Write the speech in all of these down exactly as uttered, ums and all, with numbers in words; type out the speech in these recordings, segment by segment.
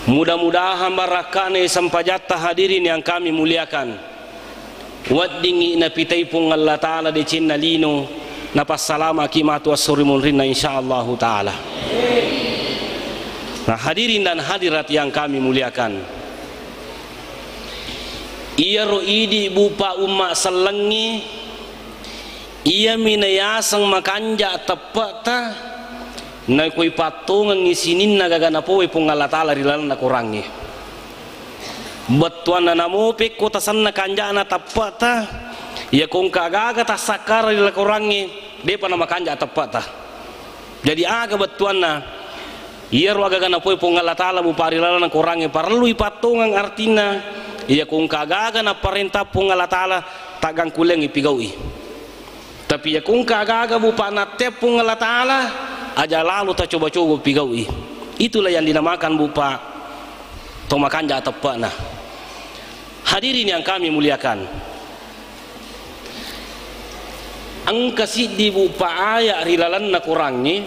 Mudah-mudahan barakka'na sempajatta, hadirin yang kami muliakan, weddingngi napitai Puang Allah Ta'ala decenna lino, napassalamaki matu esso ri munrinna, insyaallahu ta'ala. Nah, hadirin dan hadirat yang kami muliakan, iyaro idi, Bu, Pa, umma sellengnge, iyami nayaseng makanja teppe'ta, narekko ipattongengngi sininna gaga napowe Puang Allah Ta'ala ri lalenna Korangnge. Bettuanna namo pekko tasenna kanja'na teppe'ta, iya ko engka gaga tassakkara ri lalenna Korangnge, de'pa namakanja teppe'ta. Jadi, aga bettuanna? Iyaro agaga napowe Puang Allah Ta'ala, Bu, Pa, ri lalenna Korangnge parellu ipattongeng, artinna iya ko engka gaga naparenta Puang Allah Ta'ala, taggangkulleang ipigau'i. Tapi iya ko engka gaga, Bu, Pa, nattea Puang Allah Ta'ala, aja lalo tacoba-coba pigau'i. Itulah yang dinamakan, Bu, Pa, to makanja teppe'na. Hadirin yang kami muliakan, engka siddi, Bu, Pa, aya ri lalenna Korangnge,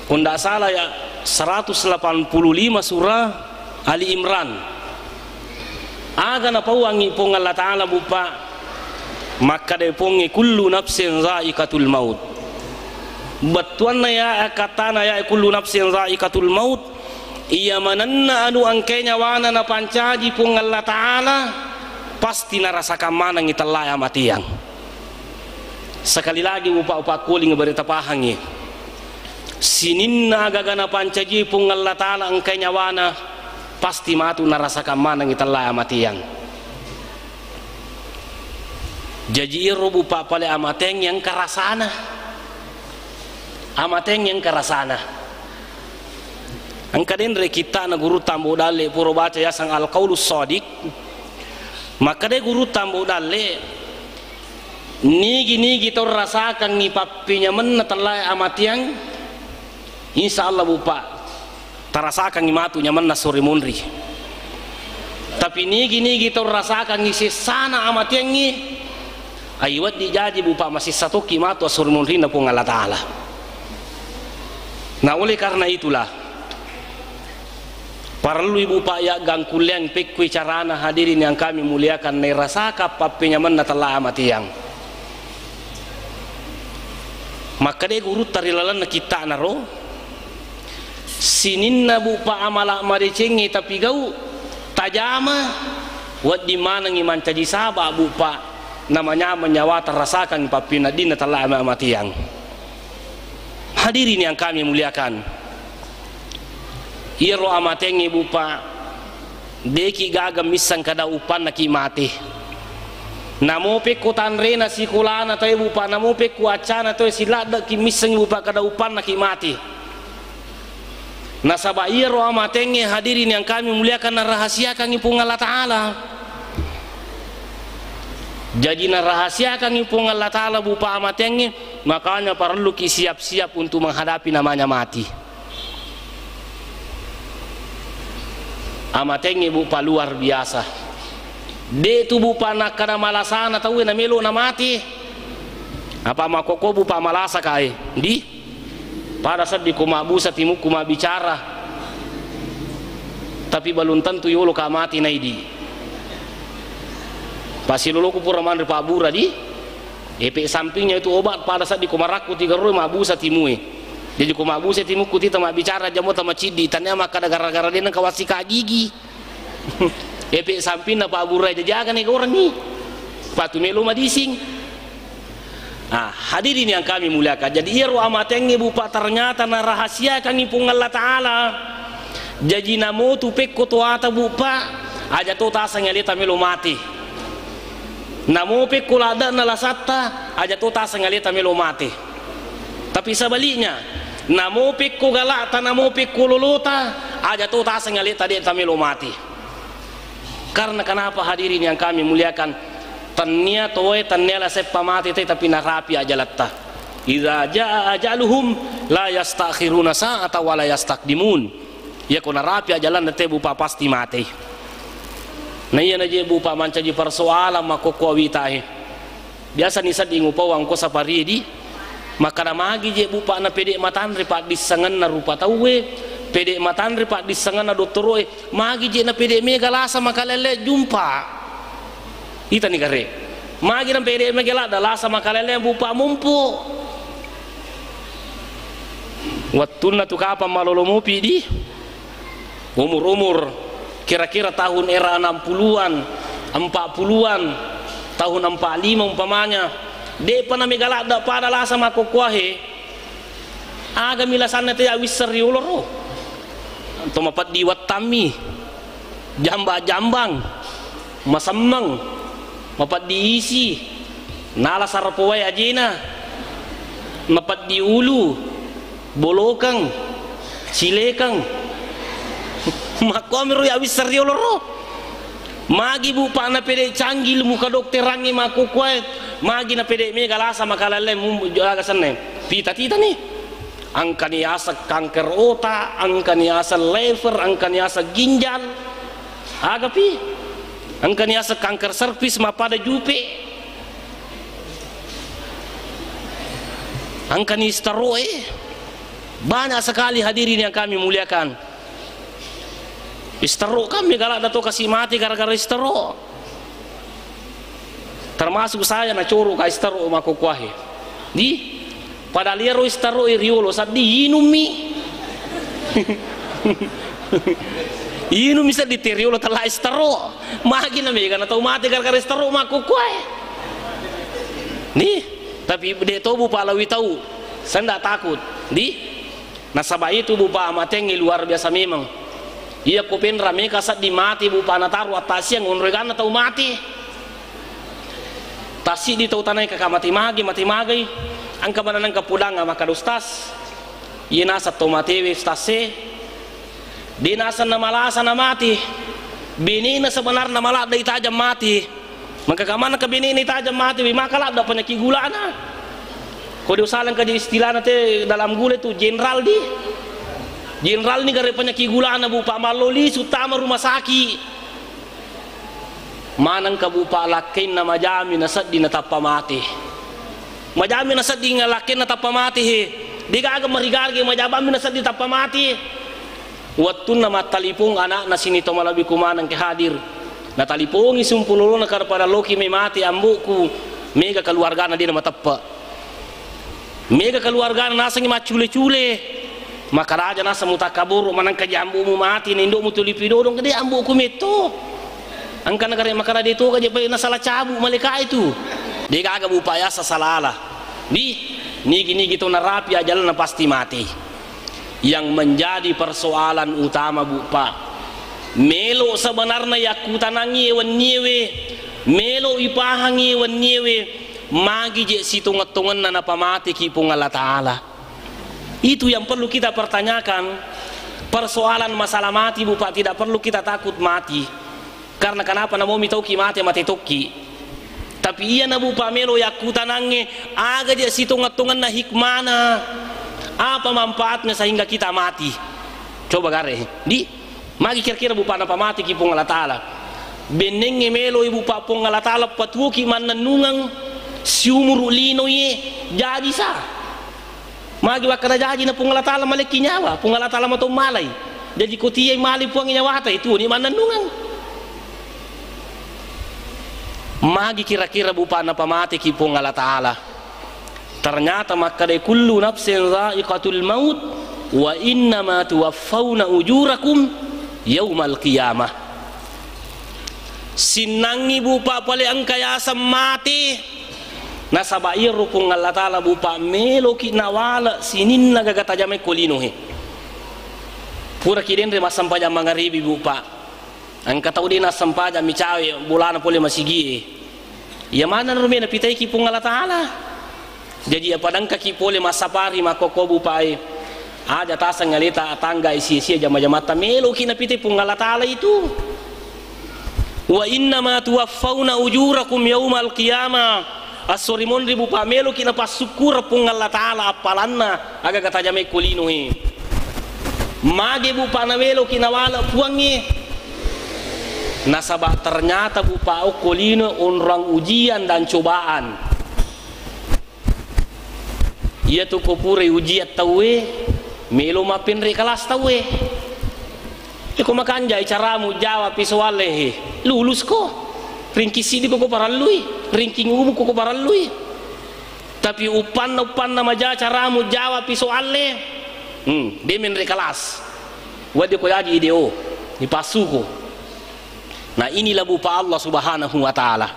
ko ndak salah ya, seratus delapan puluh lima surah Ali Imran. Aga napauangngi Puang Allah Ta'ala, Bu, Pa? Makkadai Puangnge, "Kullu nafsin za'iqatul maut." Bettuanna ya, akkatana ya, "Kullu nafsin za'iqatul maut," iya manenna anu engkae nyawana napancaji Puang Allah Ta'ala, pasti narasakang manengngi tellae amatiang. Sekali lagi, Bu, Pa, upakkuling barita pahangngi. Sininna agaga napancaji Puang Allah Ta'ala engkae nyawana, pasti matu narasakang manengngi tellae amatiang. Jaji iyaro, Bu, Pa, pale amateang engka rasana. Amateang engka rasana. Engka denre kitta'na Gurutta Ambo Dalle, pura baca, yaseng Al-Qaulus Shadiq. Makkeda Gurutta Ambo Dalle, nigi-nigi tau rasakangngi pappenyamenna tellae amatiang, insya Allah, Bu, Pa, tarasakangngi matu nyamenna sore monri. Tapi nigi-nigi tau rasakangngi sessana amatiangngi, ai wedding jaji, Bu, Pa, masessa tokki matu esso ri munrinna Puang Allah Ta'ala. Nah, oleh karena itulah, parellui, Bu, Pa, yaggangkulleang pekkui carana, hadirin yang kami muliakan, nairasakang pappenyamenna tellae amatiang. Makkeda Gurutta ri lalenna kitta'na ro, sininna, Bu, Pa, amala madecengnge tapigau, tajama, wedding manengngi mancaji saba, Bu, Pa, namanyameng nyawata, rasakangngi pappeneddinna tellae amatiang. Hadirin yang kami muliakan, iyaro amatengnge, Bu, Pa, de'ki gaga misseng kada uppannaki mate. Namo pekko tanrena sikolana tauwe, Bu, Pa, namo pekko accana tauwe, siladde'ki misseng, Bu, Pa, kada uppannaki mate. Nasaba iyaro amatengnge, hadirin yang kami muliakan, narahasiakangngi Puang Allah Ta'ala. Jaji narahasiakangngi Puang Allah Ta'ala, Bu, Pa, amatengnge, makanya parelluki siap-siap untuk menghadapi namanya mati. Amatengnge, Bu, Pa, luar biasa. De' tu, Bu, Pa, nakkada malasana tauwe namelo namati. Apa makkokko, Bu, Pa, malasa kae? Di? Pada seddi ko mabbusa timukku mabbicara. Tapi belum tentu yolo ka mati naidi. Pasiloloku pura manre pabbura di. Efek sampingnya itu obat, pada seddi ko marakku tiga roi mabbusa timue. Jadi ko mabbusa timukku tita mabbicara jamo tama ciddi, tania makkada gara-gara de' nengka wassika gigi. Efek sampingna pabbura, jadi aga ni gorengi. Patu melo madising. Ah, hadirin yang kami muliakan. Jadi iyaro amatengnge, Bu, Pa, ternyata narahasiakangngi Puang Allah Ta'ala. Jaji namotu pekko toata, Bu, Pa, aja to taseng aleta melo mati. Namo pekko ladde'na lasatta, aja to taseng aleta melo mati. Tapi sebaliknya, namo pekko gala'ta, namo pekko lolota, aja to taseng aleta de' tamelo mati. Karena kenapa, hadirin yang kami muliakan? Tennia toe, tennia laseppa mate te, tapi narapi ajalatta. Idza jaa ajaluhum la yastakhiruna sa'ata wa la yastaqdimun. Iya ko narapi ajalanna te, Bu, Pa, pasti matei. Na iya na je, Bu, Pa, mancaji persoalan makkokko awitae. Biasa ni sedding upau angko sapari di, makkada magi je, Bu, Pa, napede matanre paddissengenna rupa tauwe, Pede matanre paddissengenna dottoro'e, magi je na pede mega lasa makalelle jumpa. Itani gare. Magi na pede mega ladda lasa makalelle bupa mumpu. Wettunna tu kapang malolo mopi di umur-umur kira-kira tahun era enam puluhan, empat puluhan, tahun empat lima umpamanya, de'pa na mega ladda pada lasa makkokkoahe. Agami lasanna te awisseng riolo ro. To mapeddi wettammi, jamba-jambang, masemmeng, mapeddi isi, nala sarapowai ajena, mapeddi ulu, bolokeng, cilekeng. Makkuami ro ya awisseng riolo ro. Magi bupa na pede canggih ilmu kedokterangnge makkokkoe, magi na pede mega lasa makalelle mu-, aga senne. Pita-titani. Engkani aseng kanker otak, engkani aseng lever, engkani aseng ginjal. Agapi? Engkani aseng kanker serviks mappada jupe. Engkani istaro'e. Banyak sekali hadirin yang kami muliakan. Istaro'e kan mega ladda to kasi mati gara-gara istaro'e. Termasuk saya nacoro ka istaro'e makkokkoahe. Di, padahal iyaro istaro'e riolo seddi inummi. Inummi seddi te riolo tella istaro'e. Magi na mega na tau mati gara-gara istaro'e makkokkoae. Di, tapi de to bupa lawi tau. Saya ndak takut. Di, Nasaba itu bupa amatengnge luar biasa memang. Iya ko penra meka seddi mati bupa nataro attaksiang onro eganna tau mati. Tassiddi tau tanae kaka mati magi, mati magai. Engka maneng engka pudang makkada ustaz. Iye naseng tau matewe ustaz e. De naseng namalasa na mati. Benena sebenarna maladde itajang mati. Maka kamana ke benena itajang mati, wi maka ladda penyakit gulana. Ko de usaleng kaji istilahna te dalam gula itu jenderal di. Jenderal ni gare penyakit gulana bupa mallo lisu tama rumah sakit. Maneng ka bupa lakkainna majami na seddi na tappa mati. Majami na seddi nga lakkainna tappa mati he. De gaga marigarge majabammi na seddi tappa mati. Wettunna mattalipong ana'na sini to malebbi ku maneng ke hadir. Natalipongi sumpulolona kada pada loki mai mate ambo'ku, mega keluargana de na mateppe. Mega keluargana nasengi maccule-cule. Makaraja naseng mutakkaboro manengka ji ambo'mu mate na indo'mu tulipi dodong de ambo'ku metto. Engka nagare makara de toga je pai nasala cabu maleka itu. De gaga bupa yasa salala. Di nigi-nigi to narapi ajalanna pasti mate. Yang menjadi persoalan utama, bupa, melo sebenarna yakkutanangngi wenniewe, melo ipahangngi wenniewe, magi je sitongeng-tongenna napamateki Puang Allah Ta'ala. Itu yang perlu kita pertanyakan. Persoalan masalah mati, bupa, tidak perlu kita takut mati. Karena kenapa? Namomi tauki mate, mate tokki. Tapi iya nabupa melo yakkutanangnge, aga je sitongeng-tongenna hikmana, apa manfaatnya sehingga kita mati? Coba gare, di magi kira-kira bupa napamateki Puang Allah Ta'ala. Bennengnge melo ibupa Puang Allah Ta'ala patuoki mannennungeng siumuru lino iye, jaji sa. Magi wakkada jaji na Puang Allah Ta'ala malekki nyawa, Puang Allah Ta'ala mato malai. Jaji ko tiai mali Puang nyawata, itu ni mannennungeng. Magi kira-kira bupa napamateki Puang Allah Ta'ala. Ternyata makkadai kullu nafsin dha'iqatul maut wa innama tuwaffawna ujurakum yaumal qiyamah. Sinnangngi bupa pale engka yaseng mate. Nasaba iyaro Puang Allah Ta'ala bupa meloki nawale sininna gaga tajamai ko linoe. Puraki denre massempajang mangaribi bupa. Engka tau de nassempajang mi cawe bolana pole masigie. Iya maneng rume napitaiki Puang Allah Ta'ala. Jaji apa dengkaki pole massapari makkokko bupae. Aja taseng aleta tangga sia-sia jama-jamatta meloki napitai Puang Allah Ta'ala itu. Wa innama tuwaffawna ujurakum yaumal qiyamah. Esso ri monri bupa meloki napassukkureng Puang Allah Ta'ala appalanna agaga tajamai ko linoe. Mage bupa naweloki nawale Puangnge. Nasaba ternyata bupa okko lino onrang ujian dan cobaan. Iyatu ko purai ujian tauwe, Melo mappenre kelas tauwe. Iko makanjai caramu jawab pi soalle he. Lulusko. Ringki siddi ko parellui. Ringki ngumu ko parellui. Tapi uppanna, uppanna maja caramu jawab pi soalle. Hmm, de menre kelas. Wadde ko jaji ideo. Dipassuko. Nah, inilah bupa Allah Subhanahu wa Ta'ala.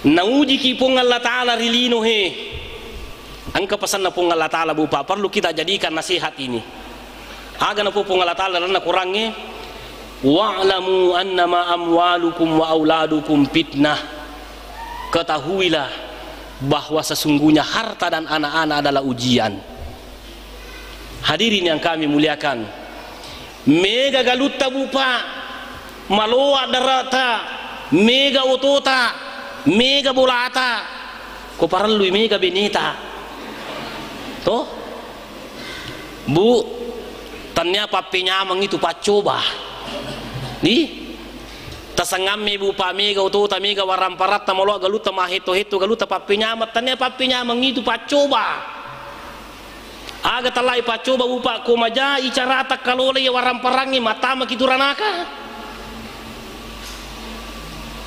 Naujiki Puang Allah Ta'ala ri lino he. Engka pesanna Puang Allah Ta'ala bupa, perlu kita jadikan nasihat ini. Aga napo Puang Allah Ta'ala dalam Qurannya, "Wa'lamu annama amwalukum wa auladukum fitnah." Ketahuilah bahwa sesungguhnya harta dan anak-anak adalah ujian. Hadirin yang kami muliakan, mega galutta bupa, maloa darata, mega otota, mega bolata, ko parellui mega beneta. Toh? Bu, tania pappenyameng itu paccoba. Di? Tasangamme bupa mega otota, mega waramparatta, maloa galutta, mahetto-hetto galutta, pappenyameng, tania pappenyameng itu paccoba. Aga tallai paccoba bupa, ko majai carata kalolai waramparangnge, mattamaki tu ranaka.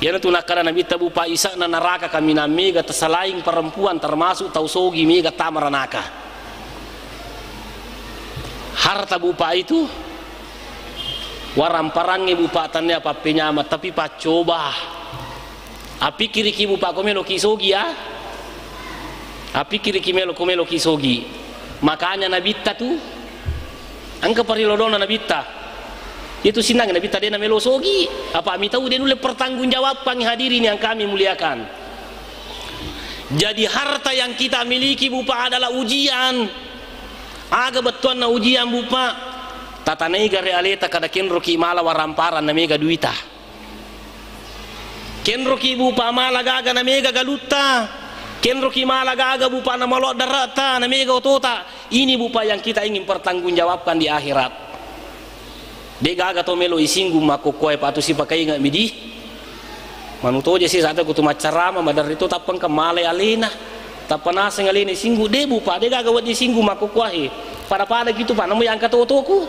Iyanatu nakkada Nabitta bupa, isa'na naraka kaminang mega tasalaing perempuan, termasuk tau sogi mega tama ranaka. Harta bupa itu waramparangnge bupa, tania pappenyameng, tapi paccoba. Apikiriki bupa ko meloki sogi ya. Apikiriki melo ko meloki sogi. Makanya Nabitta tu engka parilodona Nabitta. Itu sinnang Nabitta de namelo sogi. Apa mitau de nulle pertanggungjawabkan, hadirin yang kami muliakan. Jadi harta yang kita miliki bupa adalah ujian. Aga bettuanna ujian bupa? Tatanai gare aleta kada kenroki mala waramparang na mega duita. Kenroki bupa mala gaga na mega galutta. Kenroki mala gaga bupa na maloa darata na mega otota. Ini bupa yang kita ingin pertanggungjawabkan di akhirat. De gaga to melo isinggung makkokkoe patu sipakainga midi. Manu toje sesa kutu maccarama maderri to tappa engka malai alena. Tappa naseng alena isinggung, de bupa, de gaga wedding singgung makkokkoe. Pada-pada gitu pa namu yang katotoku.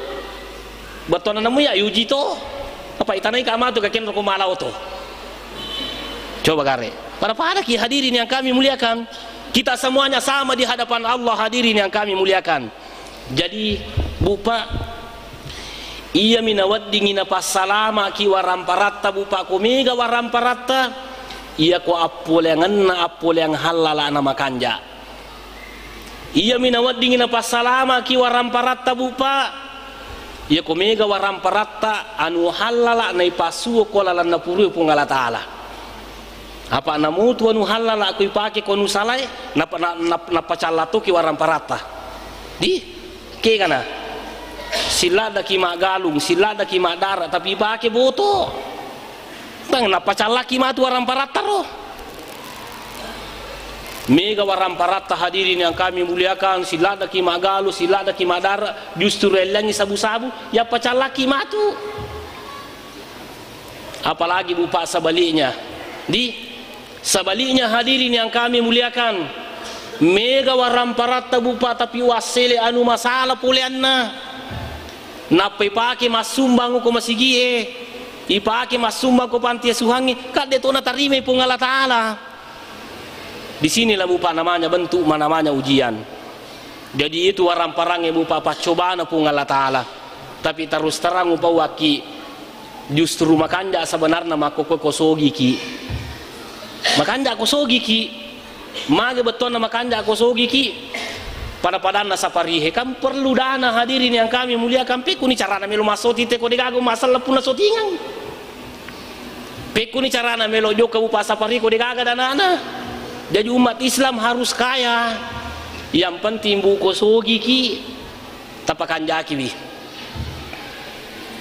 Bettuanna namu ya yuji to. Apa itanai ka matu ka kenro ko mala oto. Coba gare. Pada-pada ki hadirin yang kami muliakan. Kita semuanya sama di hadapan Allah, hadirin yang kami muliakan. Jadi, bupa, iyami naweddingi napassalamaki waramparatta bupa, ko mega waramparatta, iyako appoleangenna appoleang hallala na makanja. Iyami naweddingi napassalamaki waramparatta bupa, iyako mega waramparatta anu hallala naipassuo ko lalenna purue Puang Allah Ta'ala. Apa namutu anu hallala ko ipake ko anu salae, napa-, na-, na-, napacalla toki waramparatta. Di, kegana. Silladdaki maggalung, silladdaki maddara, tapi ipake boto. Tang napacallaki matu waramparatta ro. Mega waramparatta hadirin yang kami muliakan, silladdaki maggalung, silladdaki maddara, justru ellangi sabu-sabu, yappacallaki matu. Apalagi bupa sebaliknya. Di sebaliknya hadirin yang kami muliakan, mega waramparatta bupa tapi wassele anu masala poleanna. Nappa ipake massumbang ko masigie, ipake massumbang ko panti asuhangnge, kadde to natarimai Puang Allah Ta'ala. Di sinilah bupa namanya bentuk, namanya ujian. Jadi itu waramparangnge bupa paccobana Puang Allah Ta'ala. Tapi terus terang upauakki, justru makanja sebenarna makkokkoe ko sogiki. Makanja ko sogiki. Mage bettuanna makanja ko sogiki. Pada-padanna saparihe kan perlu dana hadirin yang kami muliakan. Pekkuni carana melo massoti te ko degaga massella punna sotingang. Pekkuni carana melo jokka bupa sapari ko degaga danana. Jadi umat Islam harus kaya. Yang penting buko sogiki, tapakanjakiwi.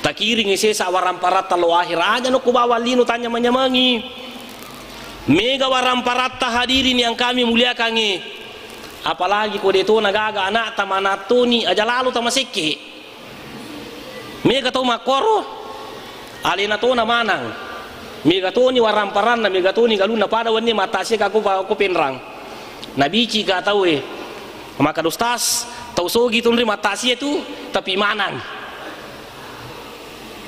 Takiringi sesa waramparatta lo akhir aja no ko bawang lino tanya manyamengi. Mega waramparatta hadirin yang kami muliakangi. Apalagi ko detona gaga anakta manattoni aja lalo tamasekke. Mega tau makkoro, alena tona manang. Mega toni waramparanna, mega toni galunna, pada wenni mattasiaka ko pa-, ko penrang. Nabicika tauwe, makkada, "Ustaz, Tau sogi tu nri mattasia tu, tapi manang.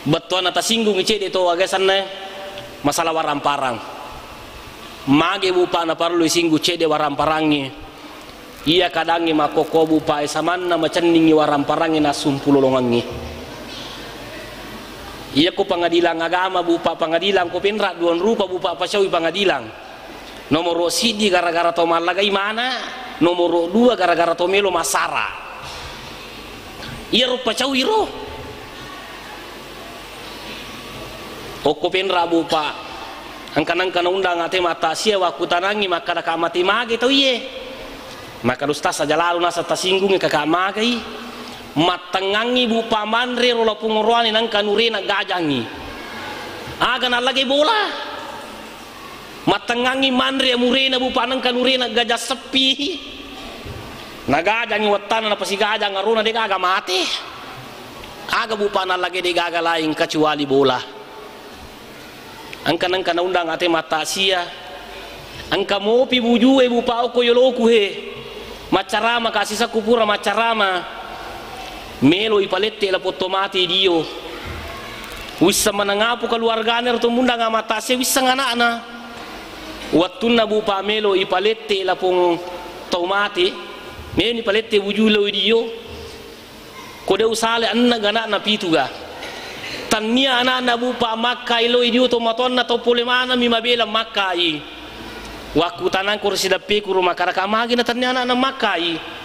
Bettuanna tasinggungi cedde to aga senna masalah warang-parang. Mage bupa naparlu isinggu cedde warang-parangnge. Iya kadangnge makkokko bupa e samanna macenningi warang-parangnge nassumpu lolongengnge. Iya ko pengadilang agama bupa, pengadilang ko penra duang rupa bupa pacaui pengadilang. Nomoro siddi gara-gara to mallagai mana, nomoro dua gara-gara to melo masara. Iyaro pacau iro. Okko penra bupa, engka nengka naundang ate mattasia wakkutanangi makkada ka mate mage tau iye. Makkada ustaz aja lalu nasa tasinggungi kaka magai. Mattengangi bupa manre ro lapung oroane nengka nurena gajangi. Aga nallagai bola. Mattengangi manre murena bupa nengka nurena gajang seppi. Nagajangi wettana napasigajang arona degaga mate. Aga bupa nallage degaga laing kecuali bola. Engka nengka naundang ate mattasia. Engka mopi bujue bupa okko yoloku he. Maccarama ka sisakku pura maccarama. Melo ipalette lapong to mate dio. Wisseng maneng apu keluargana ro to mundang amattasia wisseng anakna. Wettunna bupa melo ipalette lapong to mate. Melo ipalette buju lo dio. Ko de usale enneng anakna pitu ga. Tannia anakna bupa makkai lo dio to matoanna to pole maneng mi mabela makkai. Wakkutanangko ri sideppeku ro makkada ka magi na tennia anakna makkai.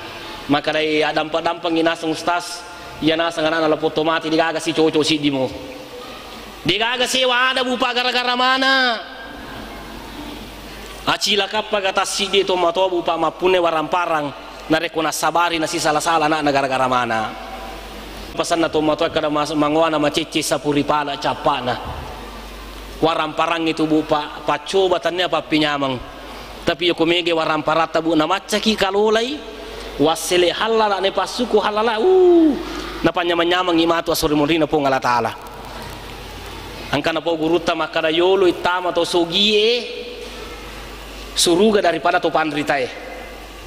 Makkadai addampa-dampangi naseng ustaz, iya naseng anakna lapong to mate degaga sicoco siddimo. Degaga sewa ada bupa gara-gara mana. Acilakappa ga tassiddi to matoa bupa mappunne warang-parang narekko nassabari nasisala-sala anakna gara-gara mana. Pasanna to matoa kada mas-, mangoana macecce sapuri pala cappana. Warang-parang itu bupa paccoba tannia pappinyameng. Tapi yoko mege warang-paratta bu namaccaki kalolai wassele hallala ne passuku hallala uh napanyameng-nyamengi matu asori monrina Puang Allah Ta'ala. Angkana pau gurutta makkada yolo ittama to sogie suruga daripada to panritae.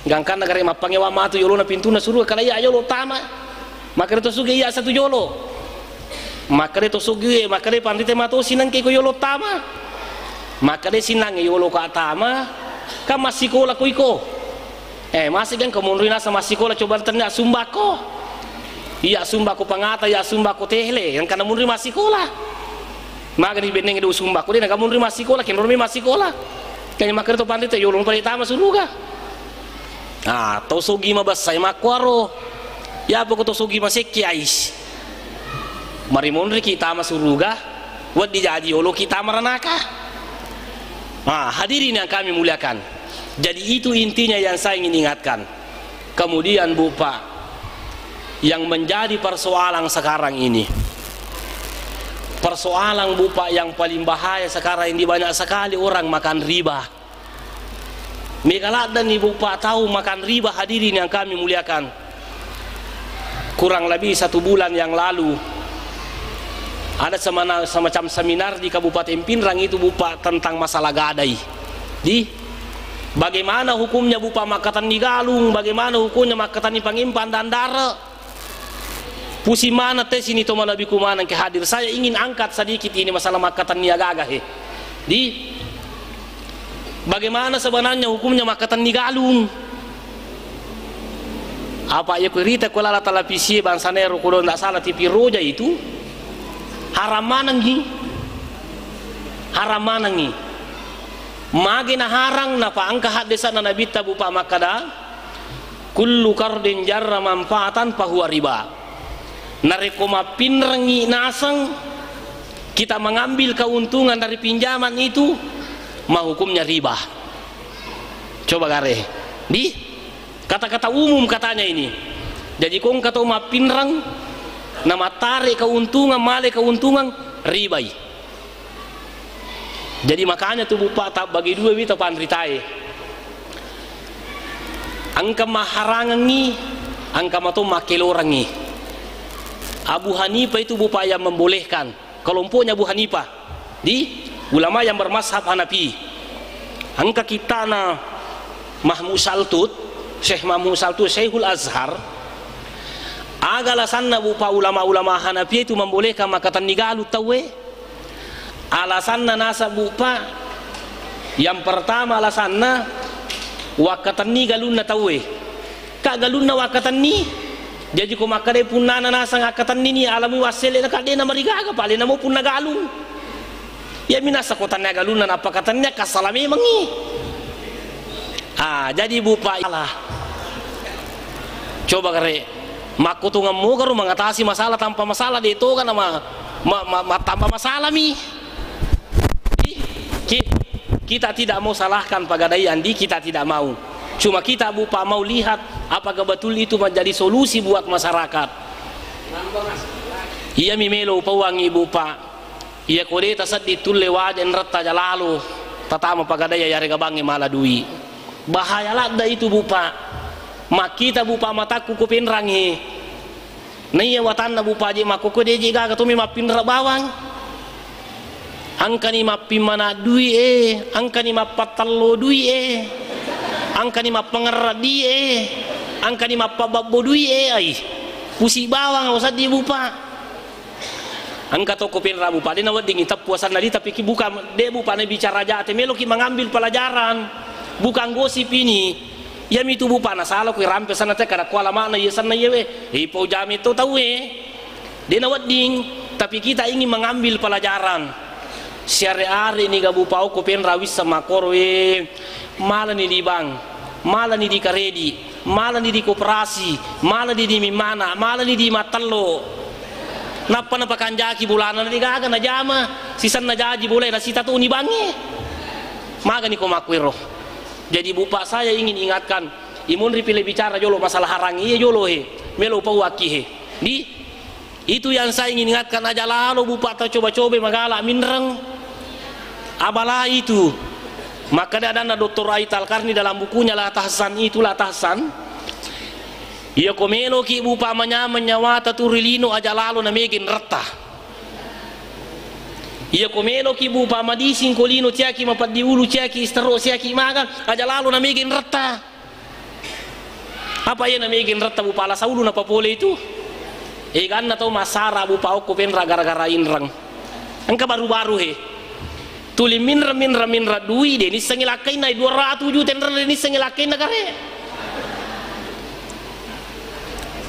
Gangkanna gare mappangewa matu yolona pintuna suruga kada iya yolo tama. Makkada to suge iya satu yolo. Makkada to suge, makkada panrite matosi nengke ko yolo tama. Makkada sinange yolo ka tama, kan massikola ko iko. Eh, masih kan ko munri nasa massikola coba tanya sumbako. Iya sumbako pangata, iya sumbako tehle, yang kana munri massikola. Magani benneng do sumbako de na kamunri massikola, kenro mi massikola. Kanya makkada to panrite yolo pale tama suruga. Ah, to sogi mabessai makkuaro. Ya apa ko to sogi masekki ais. Mari monriki tama suruga, waddi jaji yoloki tama ranaka. Ah, hadirin yang kami muliakan. Jadi itu intinya yang saya ingin ingatkan. Kemudian bupa, yang menjadi persoalan sekarang ini, persoalan bupa yang paling bahaya sekarang ini banyak sekali orang makan riba. Mega laddanni bupa tau makan riba hadirin yang kami muliakan. Kurang lebih satu bulan yang lalu ada semana-, semacam seminar di Kabupaten Pinrang itu bupa tentang masalah gadai. Di bagaimana hukumnya bupa makkatenni galung, bagaimana hukumnya makkatenni pangempang dan dare. Pusing mana te sini to malebbiku maneng ke hadir. Saya ingin angkat sedikit ini masalah makkatenni agaga he. Di bagaimana sebenarnya hukumnya makkatenni galung? Apa ya kurita ko lala televisi bangsa nero kudo ndak salah T V Roja itu haram manengi. Haram manengi. Magi na harang napa angka haddesana nabitta bupa makkada Kullu qardin jarra manfaatan fahuwa riba. Narekko mappinrengngi naseng kita mengambil keuntungan dari pinjaman itu, mahukumnya riba. Coba gare. Di kata-kata umum katanya ini. Jadi kongka to mappinreng na mattare keuntungan, male keuntungan, ribai. Jadi makanya tu bupa tabbagi dua wita panritae. Engka maharangengngi, engka mato makkelorengngi. Abu Hanifah itu bupa yang membolehkan. Kelompoknya Abu Hanifah. Di ulama yang bermazhab Hanafi. Engka kitana Mahmud Saltut, Syekh Mahmud Saltut, Syekhul Azhar, Aga alasanna, Bu, Pa, ulama-ulama Hanafiyah itu membolehkan makkatenni galung tauwe? Alasanna naseng, Bu, Pa, yang pertama alasanna wakkatenni galunna tauwe. Ka galunna wakkatenni, jaji ko makkeda punnana naseng akkatennini alamui wassele, na ka de' namarigaga, Pa, alena mo punna galung. Iyami naseng ko tennia galunna nappa katennia, kassala memengngi. Ah, jadi, Bu, Pa, salah. Coba kare, makkutungeng mogaro mengatasi masalah tanpa masalah, de' toga nama, ma, ma, ma, tambah masalah mi. Ih, ki-, kita tidak mau salahkan Pagadaian, di, kita tidak mau. Cuma kita, Bu, Pa, mau lihat apakah betul itu menjadi solusi buat masyarakat. Iyami melo upauangngi, Bu, Pa. Iya ko de' tasedding tulle waja enretta aja lalo tatama Pagadaian, yarega bangnge mala dui. Bahaya ladde itu, Bu, Pa. Makkita, Bu, Pa, matakku ko Penrangnge. Naiya watanna, Bu, Pa, je' makkokkoe de' je' gaga tommi mappinra bawang. Engkani mappimmana dui e, engkani mappattello dui e, engkani mappangerra dui e, engkani mappababbo dui e, ai. Pusi bawang usaddi, Bu, Pa. Engka to ko Penra, Bu, Pa, de' naweddingngi teppu asanna di, tapi ki bukan, de', Bu, Pa, nabicara jate, meloki mengambil pelajaran. Bukan gosip ini. Iyamitu, Bu, Pa, nasala ko irampe asanna te, kada kuala makna iya asanna iya we. Ipau jame to tauwe. De' nawedding, tapi kita ingin mengambil pelajaran. Siare-are niga, Bu, Pa, okko Penra wisseng makkoro, eh, malani di bank, malani di karedi, malani di koperasi, malani di mimmana, malani di mattello. Nappa napakanjaki bolana, de' gaga najama, sisenna jaji bolae nasita toni bangnge. Magani ko makkuero. Jadi, Bu, Pa, saya ingin ingatkan, imunri pile bicara jolo masalah harang iya jolo he, melo upauakki he. Di Itu yang saya ingin ingatkan, aja lalo, Bu, Pa, tau coba-coba magala minreng. Abala itu. Makkeda adanna Doktor Ait Al-Qarni dalam bukunya La Tahzan itu, La Tahzan. Iya ko meloki, Bu, Pa, manyameng nyawata tu ri lino, aja lalo namega enretta. Iya ko meloki, Bu, Pa, madising ko lino, ciaki mapeddi ulu, ciaki istero, ciaki maga, aja lalo namega enretta. Apa iya namega enretta, Bu, Pa, lasa ulu napapole itu? Eganna tau massara, Bu, Pa, okko Penra gara-gara inreng. Engka baru-baru he. Tuli minreng, minreng, minreng dui, de' nissengngi lakkainna, dua ratu juta enreng, de' nissengngi lakkainna kare.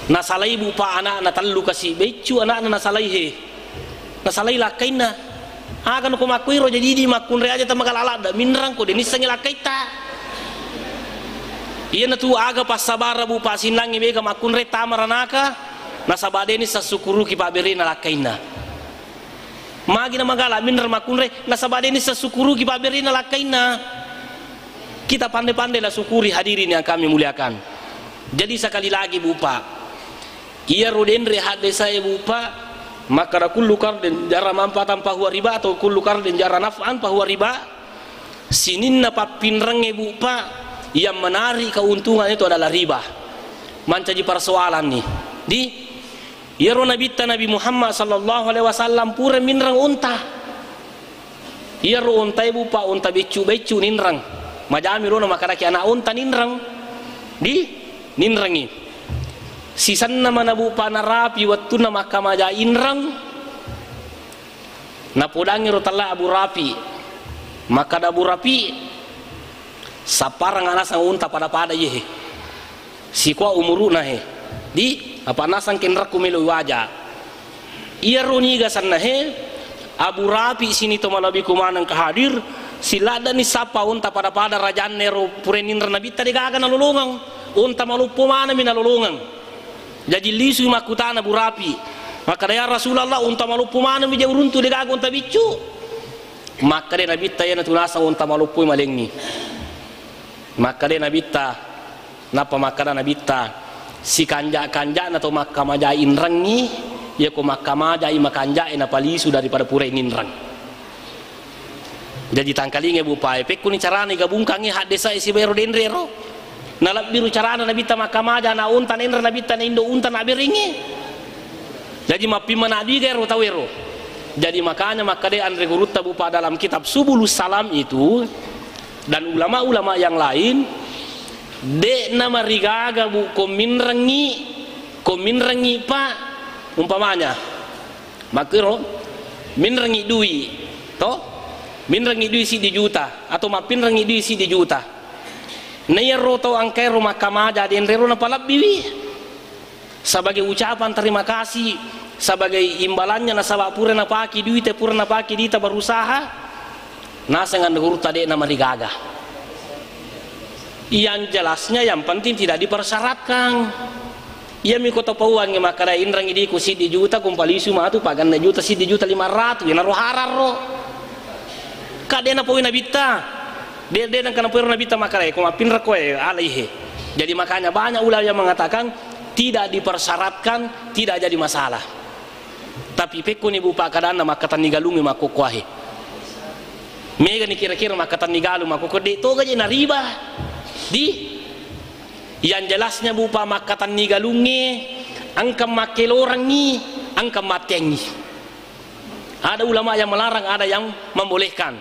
Nasalai, Bu, Pa, anakna tellu kasi beccu, anakna nasalai he. Nasalai lakkainna. Aga nako makkuiro, jadi idi makkunrai aja tau magala ladde, minreng ko de' nissengngi lakkaitta. Iyanatu aga passabara, Bu, Pa, sinnangnge mega makkunrai tama ranaka, nasaba de' nisseng sukkuruki pabberena lakkainna. Magi na magala minreng makkunrai, nasaba de' nisseng sukkuruki pabberena lakkainna. Kita pandai-pandai la syukuri, hadirin yang kami muliakan. Jadi sekali lagi, Bu, Pa, iyaro denre haddesae, Bu, Pa, makkada kullu qardin jarra manfaatan fahuwa riba atau kullu qardin jarra naf'an fahuwa riba. Sininna pappinrengnge, Bu, Pa, yang menarik keuntungan itu adalah riba. Mancaji persoalan nih. Di Iyaro Nabitta Nabi Muhammad sallallahu alaihi wasallam pura minreng unta. Iyaro untae, Bu, Pa, unta beccu-beccu ninreng. Majami rona makkadaki anak unta ninreng. Di ninrengi. Sisenna mana, Bu, Pa, narapi wettunna makkamaja inreng. Napodangi ro tella Abu Rafi. Makkada Abu Rafi, sapparang anaseng unta pada-pada iye he. Sikua umuru'na he. Di, apa nasang kenrakku melo waja. Iyaro niga senna he, Abu Rafi sini to malabiku maneng ka hadir, siladdani sappa unta pada-pada rajanna ero pura ninreng Nabitta de' gaga nalolongeng. Unta maloppo maneng mi nalolongeng. Jaji lisui makkutana Abu Rafi. Makkada, "Ya Rasulullah, unta maloppo maneng mi je uruntu de' gaga unta biccu." Makkada Nabitta, "Iyanatu naseng unta maloppo malengngi." Makkada Nabitta, nappa makkada Nabitta, "Sikanja-kanjana to makkamaja inrengngi, iyako makkamajai makanjae napalisu daripada purai ninreng." Jaji tangkalinga, Bu, Pa, e, pekkuni carana igabungkangngi haddesae sibawa ero denre ero. Nalebbiru carana Nabitta makkamaja anak unta, nainreng Nabitta na indo unta nabberengngi. Jaji mappimmana duiga ero tau ero. Jadi makanya makkada anre gurutta, Bu, Pa, dalam kitab Subulus Salam itu dan ulama-ulama yang lain, de'na marigaga, Bu, ko minrengngi, Ko minrengngi, Pak, umpamanya, makkiro, minrengngi dui, to? Minrengngi dui siddi juta, atau mappinrengngi dui siddi juta. Na iyaro tau engkaero makkamaja, denrero napalebbiwi. Sebagai ucapan terima kasih, sebagai imbalannya nasaba pura napake duita, pura napake duita berusaha, naseng anre gurutta de'na marigaga. Yang jelasnya yang penting tidak dipersyaratkan. Iyami ko tapauangngi makkeda inrengngi diku siddi juta, kumpalisu matu paganna juta, siddi juta lima ratus, iyanaro hararro. Ka de' napoi nabitta. De', de' nengka napoiro nabitta makkeda, ko mappinra koe, alaihe. Jadi makanya banyak ulama yang mengatakan tidak dipersyaratkan, tidak jadi masalah. Tapi pekkoni bu pakkadanna makkatenni galungnge makkokkoahe. Megani kira-kira makkatenni galung makkokko, de' toga je nariba. Di yang jelasnya bu pa makkatenni galungnge, engka makkelorengngi, engka matteangngi. Ada ulama yang melarang, ada yang membolehkan.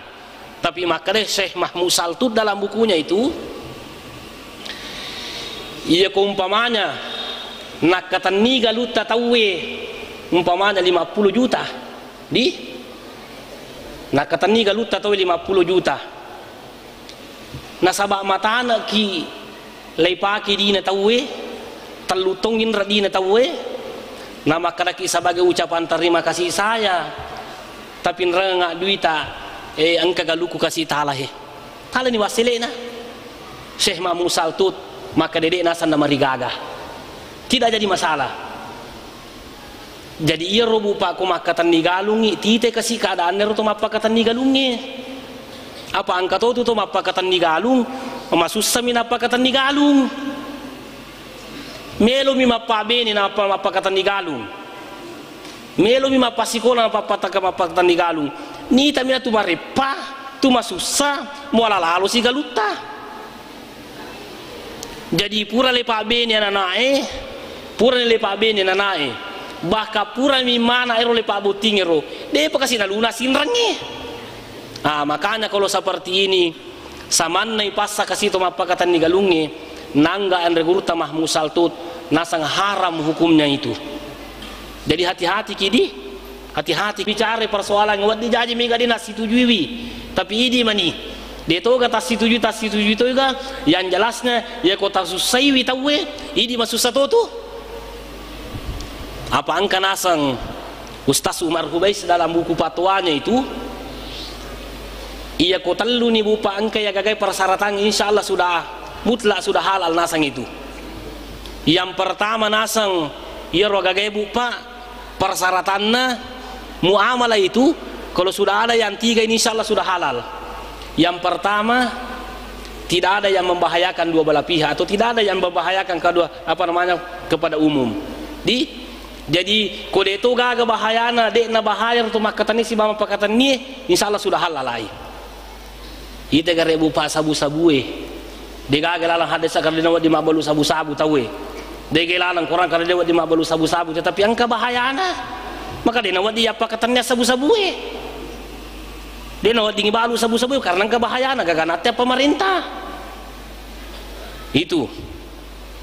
Tapi makkeda Syekh Mahmud Saltut dalam bukunya itu, iya ko umpamanya nakkatenni galutta tauwe umpamanya lima puluh juta, di nakkatenni galutta tauwe lima puluh juta, nasaba matanekki leipake dina tauwe, tellu tong inra dina tauwe, namakkedaki sebagai ucapan terima kasih saya, tapi nrenga duita, eh, engka galuku kasi talahe. Talani wasselena. Syekh Mahmud Saltut makkeda de' naseng namarigaga. Tidak jadi masalah. Jadi iyaro bu pa ko makkatenni galungngi, tite kasi keadaanna ro to mappakatenni galungnge. Apa engka totu to mappakatenni galung, masussami nappakatenni galung. Melomi mappabene nappa mappakatenni galung. Melomi mappasikola nappa mappakatenni galung. Nitami natu mareppa, tu masussa, muala lalosi galutta. Jadi pura le pabbene ananae, pura le pabbene ananae, bahkan purami mana ero le pabbottingero, de'pa kasi naluna sinrengnge. Ah, makanya kalau seperti ini, samanna ipassa kasi to mappakatenni galungnge, nangga anre gurutta Mahmud Saltut, naseng haram hukumnya itu. Jadi hati-hati ki di, hati-hati bicara persoalan wedding jaji mega de' nassitujuiwi. Tapi idi mani. De' toga tassitujui, tassitujui toga, yang jelasnya, ya ko tasussaiwi tauwe, idi masussa totu. Apa engka naseng Ustaz Umar Hubais dalam buku fatwanya itu, iya ko telluni bu pa engka ya gagai persyaratan, insya Allah sudah mutlak, sudah halal naseng itu. Yang pertama naseng, iyaro gagai bu pa, persyaratanna muamalah itu, kalau sudah ada yang tiga ini, insya Allah sudah halal. Yang pertama, tidak ada yang membahayakan dua belah pihak atau tidak ada yang membahayakan kedua, apa namanya, kepada umum. Di, jadi ko de' to gaga bahayana, de' na bahaya tu makkatenni sibawa pakatenni, insya Allah sudah halal ai. Ite gare bu pa sabu-sabue. De' gaga lalang hadesa karena wedding mabbalu sabu-sabu tauwe. De' gaga lalang Quran karena de' wedding mabbalu sabu-sabu, tetapi engka bahayana. Maka de' na wedding yappa katennia sabu-sabue. De' na wedding balu sabu-sabue karena engka bahayana, gaga natte pemerintah. Itu.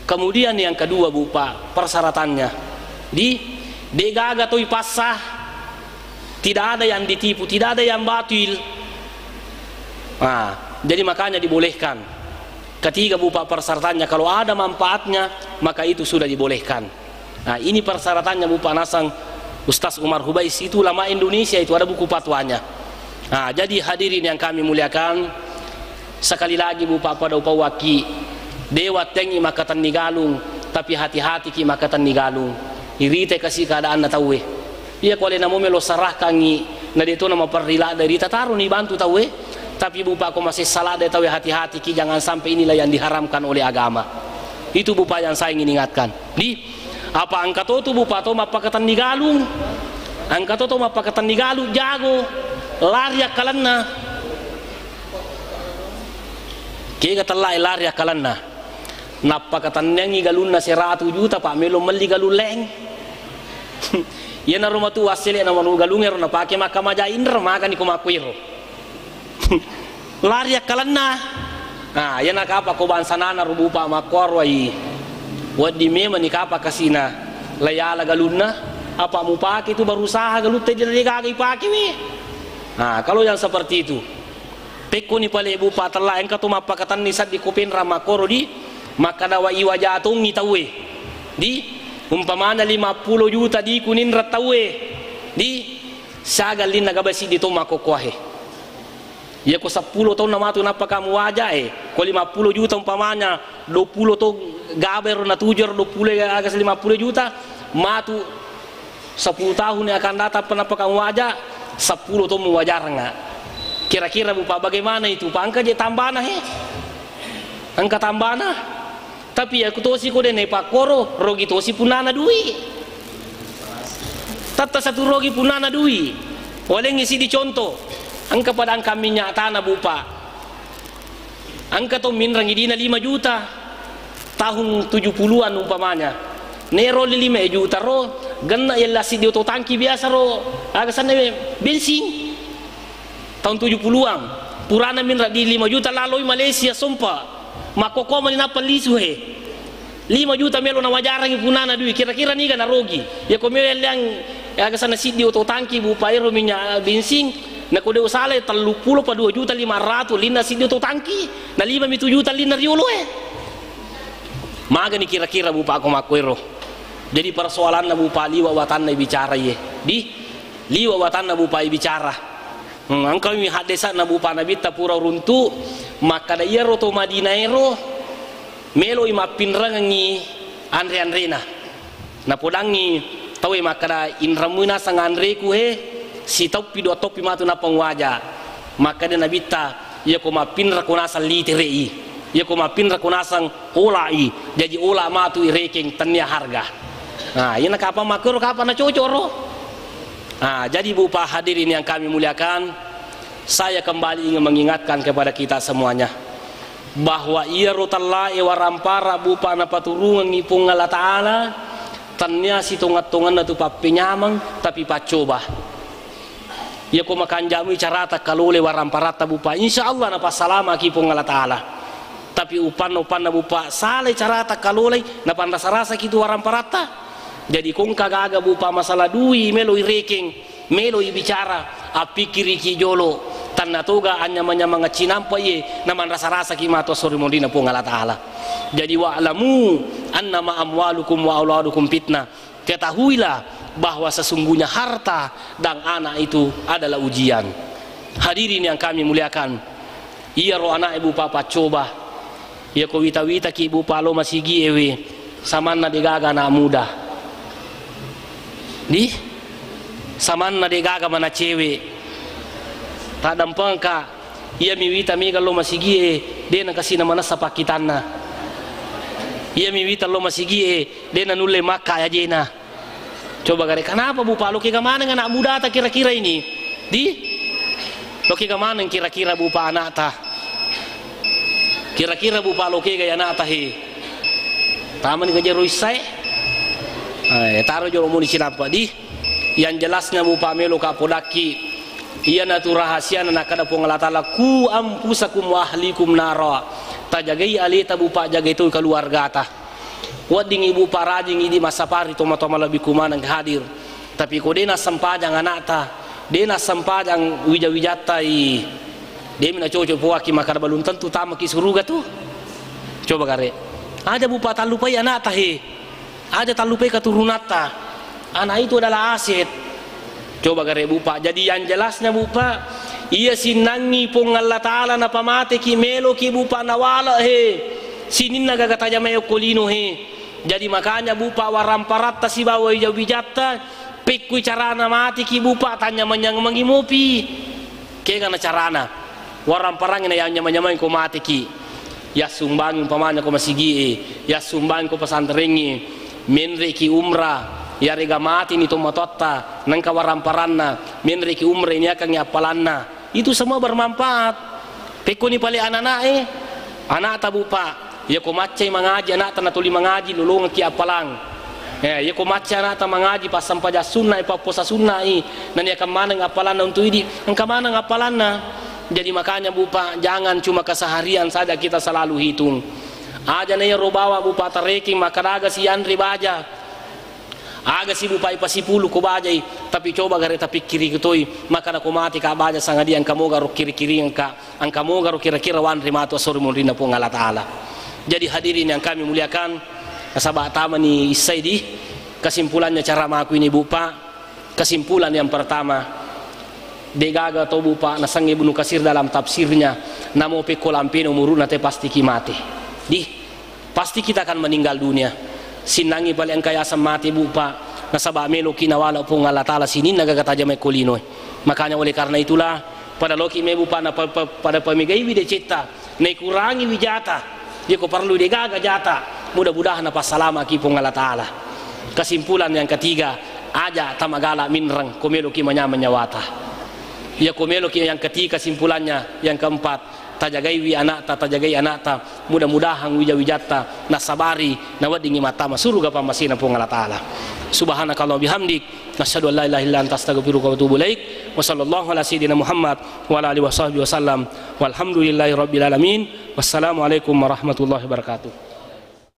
Kemudian yang kedua, bu pa, persyaratannya. Di, de' gaga toi passa, tidak ada yang ditipu, tidak ada yang batil. Nah, jadi makanya dibolehkan. Ketiga, bu pa, persyaratannya, kalau ada manfaatnya, maka itu sudah dibolehkan. Nah, ini persyaratannya, bu pa, nasang Ustaz Umar Hubais itu ulama Indonesia itu, ada buku fatwanya. Nah, jadi hadirin yang kami muliakan, sekali lagi, bu pa, pada upawaki, de' wattengngi makkatenni galung, tapi hati-hati ki makkatenni galung. Irite kasi keadaanna tauwe. Iya ko alena mo melo sarahkangngi, na de' to na maperri ladde' rita, taroni bantu tauwe. Tapi bu pa, ko masessa ladde' tauwe, hati-hati ki, jangan sampai inilah yang diharamkan oleh agama. Itu bu pa yang saya ingin ingatkan. Di, apa engka to tu bu pa to mappakatenni galung. Engka to to mappakatenni galung, jago, lari akkalenna. Kega tellae lari akkalenna. Nappakatenniangngi galunna seratu juta, pa melo melli galung laing. Iyanaro matu wassele na manu galung ero napake makkamaja inra, magani ko makkuiro. Lari akkalenna. Nah, iyana kapa ko bangsanana ro bu pa makkuaro ai. Wedding memang ni kapa kasina. Layala galunna, apa mupake tu berusaha galutta de gaga ipake we. Nah, kalau yang seperti itu, pekkoni pale Bu Pa tella engka to mappakatenni seddi ko penra makkoro di, makkada wa iwaja tongi tauwe. Di, umpamana lima puluh juta di kuninra tauwe. Di, siaga linna gaba siddi to makkokkoahe. Iya ko seppulo taunna matu nappa kamu waja e, ko lima puluh juta umpamanya, dua puluh to gaba ero natuju ero dua puluh aga lima puluh juta, matu sepuluh tahun yang akan datang pa nappa kamu waja, seppulo to muwajarnga. Kira-kira Bu Pa bagaimana itu? Pa engka je tambana he? Engka tambana? Tapi iya ku tosi ko de naipakkoro, rogi tosi punnana dui. Tatta satu rogi punnana dui. Walengngi sidi contoh. Engka pada engka minyak tanah Bu Pa. Engka to minrang idina lima juta. Tahun tujuh puluhan umpamanya. Nero lima juta ro, genna yella sidi oto tangki biasa ro. Aga sanna bensin. Tahun tujuh puluhan. Purana minrang di lima juta laloi Malaysia sompa. Makkokkoa mani nappa lisu he. Lima juta melo nawajarangi punana dui, kira-kira niga narogi? Iya ko melo yalliang aga sana siddi oto tangki Bu Pa ero minyak bensin, na ko de usala tellu pulo pa dua juta lima ratu linna siddi oto tangki, na lima mi tu juta linna riolo e. Magani kira-kira Bu Pa ko makko ero. Jadi persoalanna Bu Pa liwa watanna bicara ye. Di liwa watanna Bu Pa bicara. Hmm, engkami haddesa'na Bu Pa Nabitta pura runtu, makkada iyaro to Madinah ero meloi mappinrengengngi anre-anrena. Napodangngi tauwe makkada, "Inremmui naseng anreku he, sitauppi dua tauppi matu nappa muwaja." Makkada Nabitta, "Iyako mappinrako naseng litere'i, iyako mappinrako naseng ola'i, jaji ola matu irekeng tennia harga." Nah, iyana kapang makkoro kapang nacocok ro. Ah, jadi Bu Pa hadirin yang kami muliakan, saya kembali ingin mengingatkan kepada kita semuanya bahwa iyaro tellae warampara Bu Pa napaturungengngi Puang Allah Ta'ala, tennia sitongeng-tongenna tu pappenyameng, tapi paccoba. Iyako makanjamui carata kalole waramparatta Bu Pa, insya Allah napassalamaki Puang Allah Ta'ala. Tapi upanna-upanna Bu Pa, salai carata kalolei, napanrasa-rasaki tu waramparatta. Jadi kongka gaga Bu Pa masalah dui melo irekeng, melo ibicara, appikkiriki jolo, tanna toga anyamang-nyamang cinampa iye, namanrasa-rasaki matu esso ri monrina Puang Allah Ta'ala. Jadi wa'lamu annama amwalukum wa auladukum fitnah. Ketahuilah bahwa sesungguhnya harta dan anak itu adalah ujian. Hadirin yang kami muliakan, iyaro ana'e Bu Pa paccoba. Iyako wita-witaki Bu Pa lo masigie we, samanna degaga anak muda. Di? Samanna degaga mana cewek. Taddampengka, iyami wita mega lo masigie, de nakasina manessa pakkitanna. Iyami wita lo masigie, de nanulle makka ajena. Coba gare, kenapa Bu Pa, lo kega maneng anak mudata kira-kira ini? Di? Lo kega maneng kira-kira Bu Pa anakta? Kira-kira Bu Pa lo kega ya anakta he? Tamani kajero issae? Eh, taro jolo muni cinampa di. Yang jelasnya Bu Pa melo ka podakki. Iyanatu rahasiana nakkeda Puang Allah Ta'ala, "Ku anfusakum wa ahlikum nara." Tajagai aleta Bu Pa, jagai toi keluargata. Wedding ibu parajing idi massapari toma-toma lebbi kumaneng hadir. Tapi ko de nassempajang anakta, de nassempajang wija-wijatta i, de mi nacoco poaki makkada belum tentu tamaki suruga tu. Coba gare. Aja Bu Pa tallupai anakta he. Aja tallupai katurunatta. Anak itu adalah aset. Coba gare Bu Pa. Jadi yang jelasnya Bu Pa, iya sinnangi Puang Allah Ta'ala napamateki, meloki Bu Pa nawale he. Sininna gaga tajamai okko lino he. Jadi makanya Bu Pa, waramparatta sibawa wija-wijatta, pekkui carana mateki Bu Pa, tanya manyang mangi mopi. Kegana carana? Waramparangngi na yang nyamang-nyamangi ko mateki. Yassumbangi umpamanya ko masigie, yassumbangi ko pesantrengnge, menreki umrah, yarega mateni tomatoatta, nengka waramparanna, menreki umrah ini akangngi appalanna. Itu semua bermanfaat. Pekkoni pale anak-anak e, anakta Bu Pa, iyako maccai mangaji anakta natuli mangaji, lolongekki appalang. Eh, iyako macca anakta mangaji, passampajang sunna i, papposa sunna i, naniakan maneng appalanna untuk idi, engka maneng appalanna. Jadi makanya Bu Pa, jangan cuma keseharian saja kita selalu hitung. Aja na iyaro bawa Bu Pa tarekeng makkadaga sianre baja. Aga sibupai pasipulu ko bajai, tapi coba gare tapikkiri toi, maka nako mate ka baja sangadi engka moga ro kiri-kiri engka, engka moga ro kira-kira wanre matu asori monrinna Puang Allah Ta'ala. Jadi hadirin yang kami muliakan, nasaba tamani issai di kesimpulannya cara maku ini, Bu, Pak. Kesimpulan yang pertama, degaga tau, Bu, Pak, nasengnge Ibnu Katsir dalam tafsirnya, namo pekko lampena umuruna te pasti ki mate. Di, pasti kita akan meninggal dunia. Sinnangi pale engka yaseng mate, Bu, Pak, nasaba meloki nawala Puang Allah Ta'ala sininna gaga tajamai ko linoe. Makanya oleh karena itulah, pada loki me, Bu, Pak, na pa-, pa-, pada pamegaiwi decetta, naikurangi wijata, iya ko parellu degaga jata, mudah-mudahan napassalamaki Puang Allah Ta'ala. Kesimpulan yang ketiga, aja tamagala minreng ko meloki manyameng nyawata. Iya ko meloki, yang ketiga kesimpulannya, yang keempat, tajagaiwi anakta, tajagai anakta, mudah-mudahan wija-wijatta nasabari, naweddingi mattama suruga pammasena Puang Allah Ta'ala. Subhanakallahumma bihamdik, nasyhadu an la ilaha illa anta, astaghfiruka wa atubu ilaik. Wa sallallahu ala sayyidina Muhammad wa ala alihi wa sahbihi wasallam. Walhamdulillahi rabbil alamin. Wassalamualaikum warahmatullahi wabarakatuh.